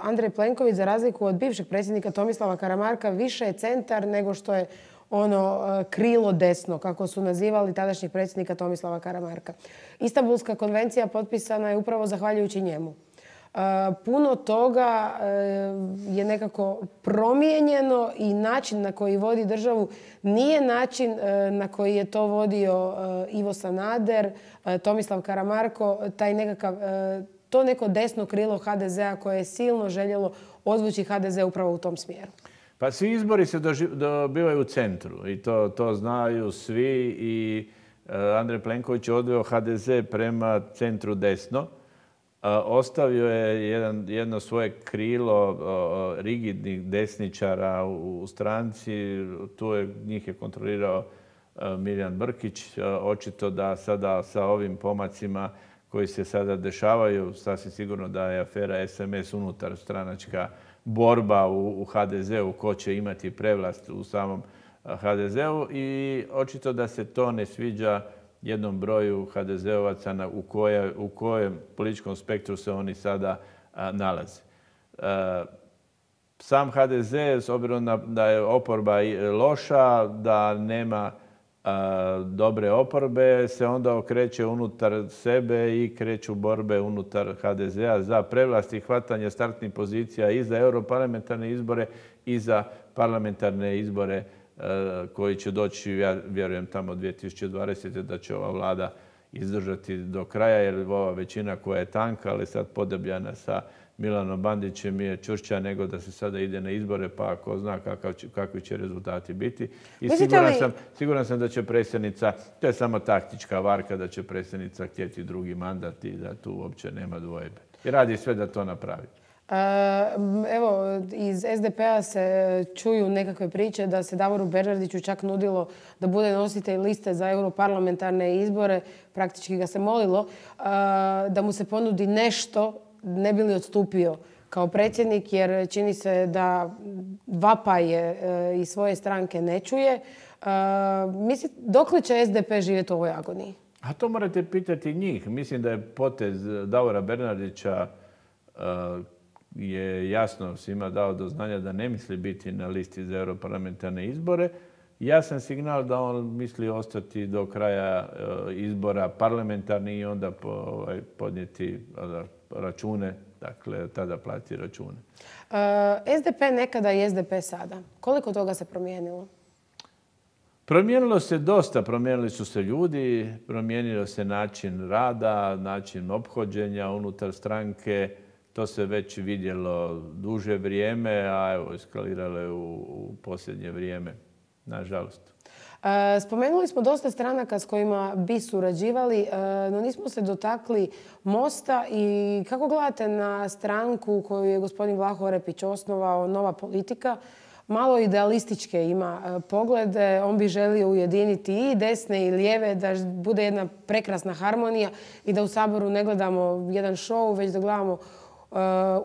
Andrej Plenković, za razliku od bivšeg predsjednika Tomislava Karamarka, više je centar nego što je ono krilo desno, kako su nazivali tadašnjeg predsjednika Tomislava Karamarka. Istanbulska konvencija potpisana je upravo zahvaljujući njemu. Puno toga je nekako promijenjeno i način na koji vodi državu nije način na koji je to vodio Ivo Sanader, Tomislav Karamarko, to neko desno krilo HDZ-a koje je silno željelo odvući HDZ upravo u tom smjeru. Pa svi izbori se dobivaju u centru i to znaju svi i Andrej Plenković je odveo HDZ prema centru desno. Ostavio je jedno svoje krilo rigidnih desničara u stranci. Njih je kontrolirao Milijan Brkić. Očito da sada sa ovim pomacima koji se sada dešavaju, sasvim sigurno da je afera SMS unutar stranačka borba u HDZ-u ko će imati prevlast u samom HDZ-u i očito da se to ne sviđa jednom broju HDZ-ovaca u kojem političkom spektru se oni sada nalaze. Sam HDZ, s obzirom da je oporba loša, da nema dobre oporbe, se onda okreće unutar sebe i kreću borbe unutar HDZ-a za prevlast i hvatanje startnih pozicija i za europarlamentarne izbore i za parlamentarne izbore koji će doći, ja vjerujem, tamo 2020. da će ova vlada izdržati do kraja, jer ova većina koja je tanka, ali sad podebljana sa Milanom Bandićem je čvršća nego da se sada ide na izbore, pa ako zna kakvi će rezultati biti. I siguran sam da će predsjednica, to je samo taktička varka, da će predsjednica htjeti drugi mandat i da tu uopće nema dvojbe. I radi sve da to napravi. Evo, iz SDP-a se čuju nekakve priče da se Davoru Bernardiću čak nudilo da bude nositelj liste za europarlamentarne izbore. Praktički ga se molilo da mu se ponudi nešto, ne bi li odstupio kao predsjednik, jer čini se da vapaje iz svoje stranke ne čuje. Dokle će SDP živjeti u ovoj agoniji? A to morate pitati njih. Mislim da je potez Davora Bernardića je jasno svima dao do znanja da ne misli biti na listi za europarlamentarne izbore. Jasan signal da on misli ostati do kraja izbora parlamentarni i onda podnijeti račune, dakle tada plati račune. SDP nekada i SDP sada. Koliko toga se promijenilo? Promijenilo se dosta, promijenili su se ljudi, promijenio se način rada, način ophođenja unutar stranke. To se već vidjelo duže vrijeme, a evo, eskaliralo je u posljednje vrijeme, nažalost. Spomenuli smo dosta stranaka s kojima bi surađivali, no nismo se dotakli Mosta. I kako gledate na stranku koju je gospodin Vlaho Orepić osnovao, Nova politika? Malo idealističke ima poglede. On bi želio ujediniti i desne i lijeve, da bude jedna prekrasna harmonija i da u Saboru ne gledamo jedan show, već da gledamo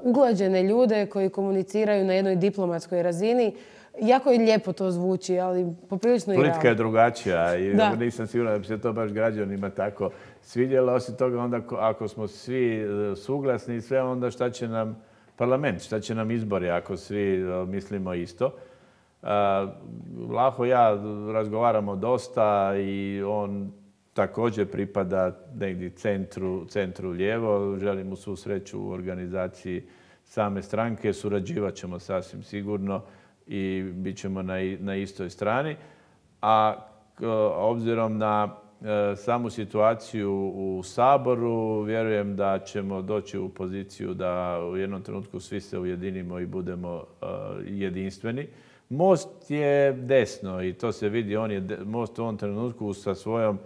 uglađene ljude koji komuniciraju na jednoj diplomatskoj razini. Jako je lijepo to zvuči, ali poprilično i realno. Politika je drugačija i nisam siguran da bi se to baš građanima tako svidjelo. Osim toga, onda ako smo svi suglasni i sve, onda šta će nam parlament, šta će nam izbori ako svi mislimo isto. Vlaho i ja razgovaramo dosta i on također pripada negdje centru lijevo. Želim mu svu sreću u organizaciji same stranke. Surađivat ćemo sasvim sigurno i bit ćemo na istoj strani. A obzirom na samu situaciju u Saboru, vjerujem da ćemo doći u poziciju da u jednom trenutku svi se ujedinimo i budemo jedinstveni. Most je desno i to se vidi. Most u ovom trenutku sa svojom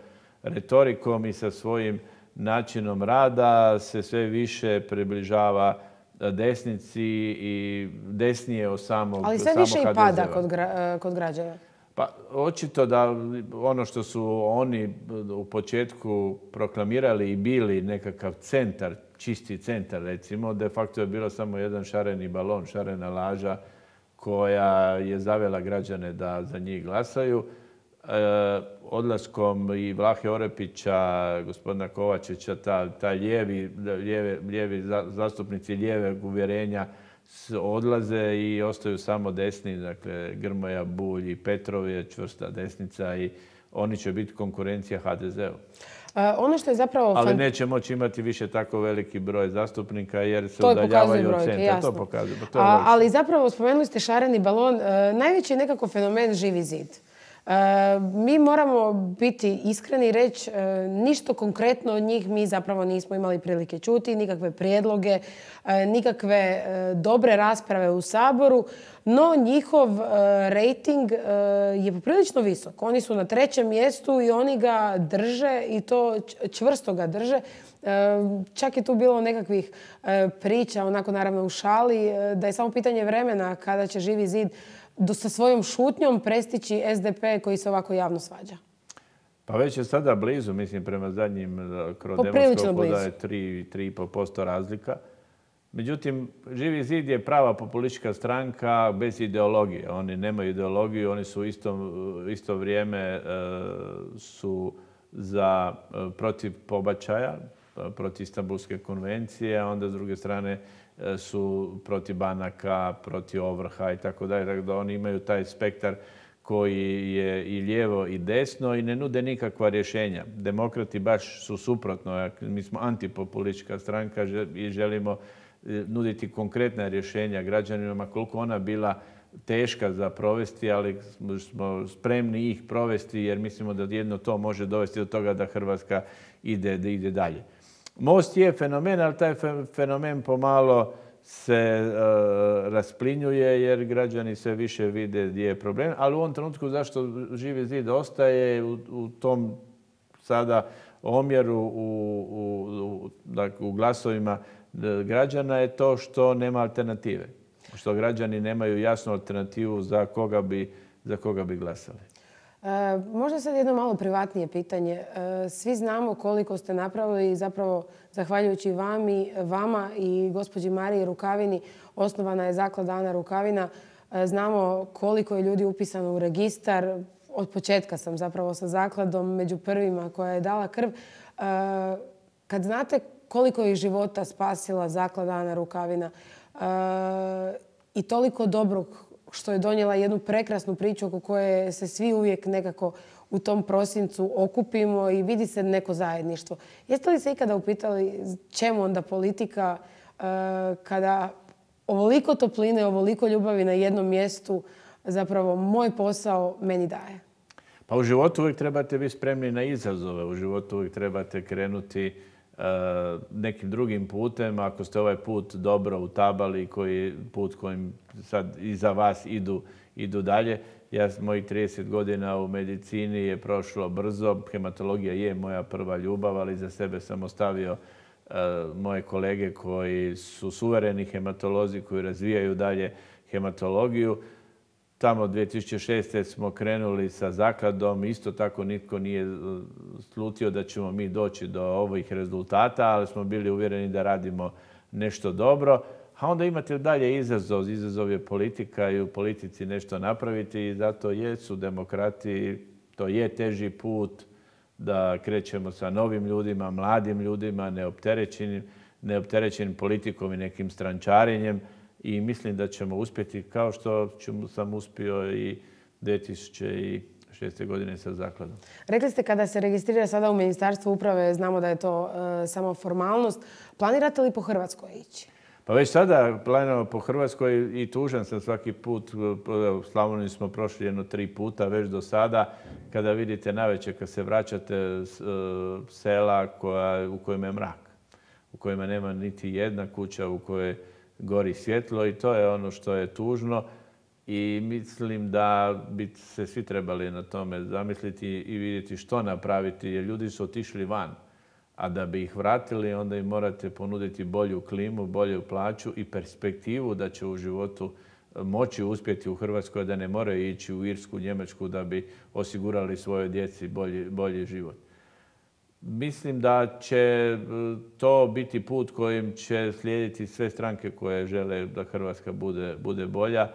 retorikom i sa svojim načinom rada se sve više približava desnici i desnije od samog HDZ-a. Ali sve više i pada kod građana. Pa očito da ono što su oni u početku proklamirali i bili nekakav centar, čisti centar recimo, de facto je bilo samo jedan šareni balon, šarena laža koja je zavela građane da za njih glasaju. Odlaskom i Vlahe Orepića, gospodina Kovačića, taj lijevi zastupnici lijevog uvjerenja odlaze i ostaju samo desni, dakle Grmoja, Bulj i Petrov je čvrsta desnica i oni će biti konkurencija HDZ-u. Ono što je zapravo... Ali neće moći imati više tako veliki broj zastupnika jer se udaljavaju od centra. To pokazuje. Ali zapravo spomenuli ste šareni balon. Najveći je nekako fenomen Živi zid. Mi moramo biti iskreni i reći ništa konkretno od njih mi zapravo nismo imali prilike čuti, nikakve prijedloge, nikakve dobre rasprave u Saboru, no njihov rejting je poprilično visok. Oni su na 3. mjestu i oni ga drže i to čvrsto ga drže. Čak je tu bilo nekakvih priča, onako naravno u šali, da je samo pitanje vremena kada će Živi zid sa svojom šutnjom prestići SDP koji se ovako javno svađa. Pa već je sada blizu, mislim, prema zadnjim krodemoskopu da je 3,5% razlika. Međutim, Živi zid je prava populistička stranka bez ideologije. Oni nemaju ideologiju, oni su u isto vrijeme su protiv pobačaja, protiv Istanbulske konvencije, a onda s druge strane su protiv banaka, protiv ovrha i tako dalje. Tako da oni imaju taj spektar koji je i lijevo i desno i ne nude nikakva rješenja. Demokrati baš su suprotno. Mi smo antipopulistička stranka i želimo nuditi konkretna rješenja građanima koliko ona bila teška za provesti, ali smo spremni ih provesti jer mislimo da jedno to može dovesti do toga da Hrvatska ide dalje. Most je fenomen, ali taj fenomen pomalo se rasplinjuje jer građani sve više vide gdje je problem. Ali u ovom trenutku zašto Živi zid ostaje u tom sada omjeru u glasovima građana je to što nema alternative. Što građani nemaju jasnu alternativu za koga bi glasali. Možda sad jedno malo privatnije pitanje. Svi znamo koliko ste napravili i zapravo zahvaljujući vama i gospođi Mariji Rukavini osnovana je zaklada Ana Rukavina. Znamo koliko je ljudi upisano u registar. Od početka sam zapravo sa zakladom među prvima koja je dala krv. Kad znate koliko je života spasila zaklada Ana Rukavina i toliko dobrog što je donijela jednu prekrasnu priču oko koje se svi uvijek nekako u tom prosincu okupimo i vidi se neko zajedništvo. Jeste li se ikada upitali čemu onda politika kada ovoliko topline, ovoliko ljubavi na jednom mjestu zapravo moj posao meni daje? Pa u životu uvijek trebate biti spremni na izazove. U životu uvijek trebate krenuti nekim drugim putem. Ako ste ovaj put dobro utabali, put kojim sad iza vas idu dalje. Mojih 30 godina u medicini je prošlo brzo. Hematologija je moja prva ljubav, ali za sebe sam ostavio moje kolege koji su suvereni hematolozi, koji razvijaju dalje hematologiju. Tamo 2006. smo krenuli sa zakladom. Isto tako nitko nije slutio da ćemo mi doći do ovih rezultata, ali smo bili uvjereni da radimo nešto dobro. A onda imate dalje izazov. Izazov je politika i u politici nešto napraviti i zato jesu demokrati. To je teži put da krećemo sa novim ljudima, mladim ljudima, neopterećenim politikom i nekim strančarenjem. I mislim da ćemo uspjeti kao što sam uspio i 2006. godine sa zakladom. Rekli ste kada se registrira sada u Ministarstvu uprave, znamo da je to samo formalnost. Planirate li po Hrvatskoj ići? Pa već sada planiramo po Hrvatskoj i tužan sam svaki put. U Slavoniji smo prošli jedno 3 puta već do sada. Kada vidite navečer kad se vraćate sela u kojima je mrak, u kojima nema niti jedna kuća u kojoj gori svjetlo i to je ono što je tužno i mislim da bi se svi trebali na tome zamisliti i vidjeti što napraviti jer ljudi su otišli van. A da bi ih vratili onda im morate ponuditi bolju klimu, bolju plaću i perspektivu da će u životu moći uspjeti u Hrvatskoj, da ne moraju ići u Irsku, Njemačku da bi osigurali svojoj djeci bolji život. Mislim da će to biti put kojim će slijediti sve stranke koje žele da Hrvatska bude bolja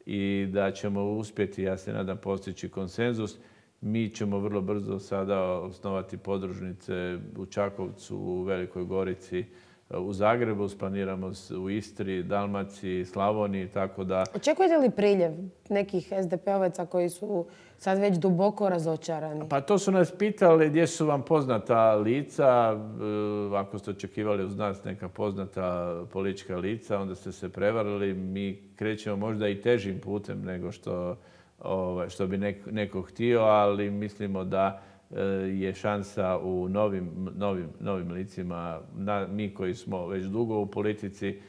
i da ćemo uspjeti, ja se nadam, postići konsenzus. Mi ćemo vrlo brzo sada osnovati podružnice u Čakovcu, u Velikoj Gorici, u Zagrebu, planiramo u Istri, Dalmaciji, Slavoniji, tako da... Očekujete li priljev nekih SDP-ovaca koji su sad već duboko razočarani? Pa to su nas pitali gdje su vam poznata lica. Ako ste očekivali uz nas neka poznata politička lica, onda ste se prevarili. Mi krećemo možda i težim putem nego što bi neko htio, ali mislimo da je šansa u novim licima. Mi koji smo već dugo u politici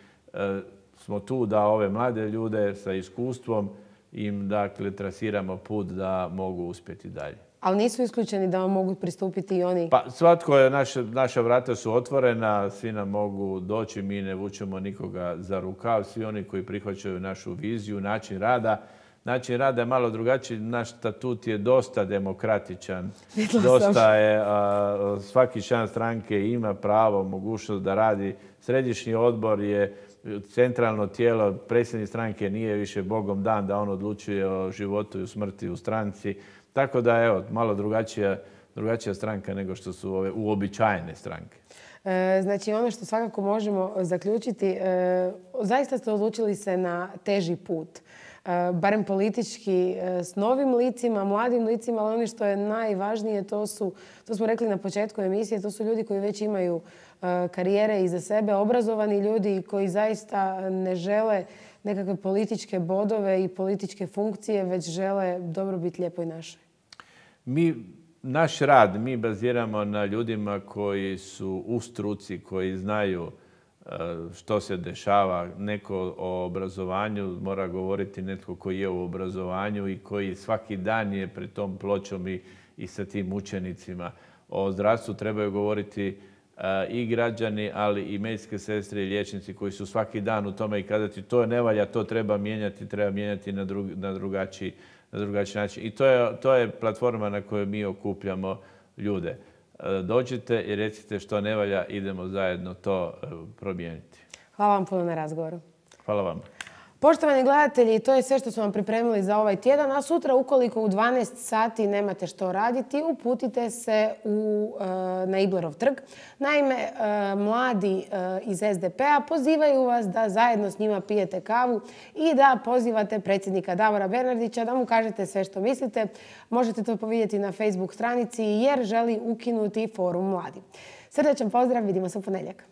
smo tu da ove mlade ljude sa iskustvom im trasiramo put da mogu uspjeti dalje. Ali nisu isključeni da vam mogu pristupiti i oni? Pa svatko je, naša vrata su otvorena, svi nam mogu doći, mi ne vučemo nikoga za rukav, svi oni koji prihvaćaju našu viziju, način rada. Način rada je malo drugačiji, naš statut je dosta demokratičan, dosta je, svaki član stranke ima pravo, mogućnost da radi. Središnji odbor je centralno tijelo, predsjednik stranke nije više Bogom dan da on odlučuje o životu i o smrti u stranci. Tako da evo, malo drugačija stranka nego što su ove uobičajene stranke. Znači ono što svakako možemo zaključiti, zaista ste odlučili se na teži put. Barem politički, s novim licima, mladim licima, ali ono što je najvažnije, to smo rekli na početku emisije, to su ljudi koji već imaju karijere iza sebe, obrazovani ljudi koji zaista ne žele nekakve političke bodove i političke funkcije, već žele dobrobit lijepoj našoj. Naš rad mi baziramo na ljudima koji su u struci, koji znaju što se dešava. Neko o obrazovanju mora govoriti netko koji je u obrazovanju i koji svaki dan je pred tom pločom i sa tim učenicima. O zdravstvu trebaju govoriti i građani, ali i medicinske sestre i liječnici koji su svaki dan u tome i kazati to ne valja, to treba mijenjati na drugačiji način. I to je platforma na kojoj mi okupljamo ljude. Dođite i recite što ne valja, idemo zajedno to promijeniti. Hvala vam puno na razgovoru. Hvala vam. Poštovani gledatelji, to je sve što smo vam pripremili za ovaj tjedan, a sutra ukoliko u 12 sati nemate što raditi, uputite se na Iblerov trg. Naime, mladi iz SDP-a pozivaju vas da zajedno s njima pijete kavu i da pozivate predsjednika Davora Bernardića da mu kažete sve što mislite. Možete to vidjeti na Facebook stranici jer želi ukinuti Forum mladi. Srdačan pozdrav, vidimo se u ponedjeljak.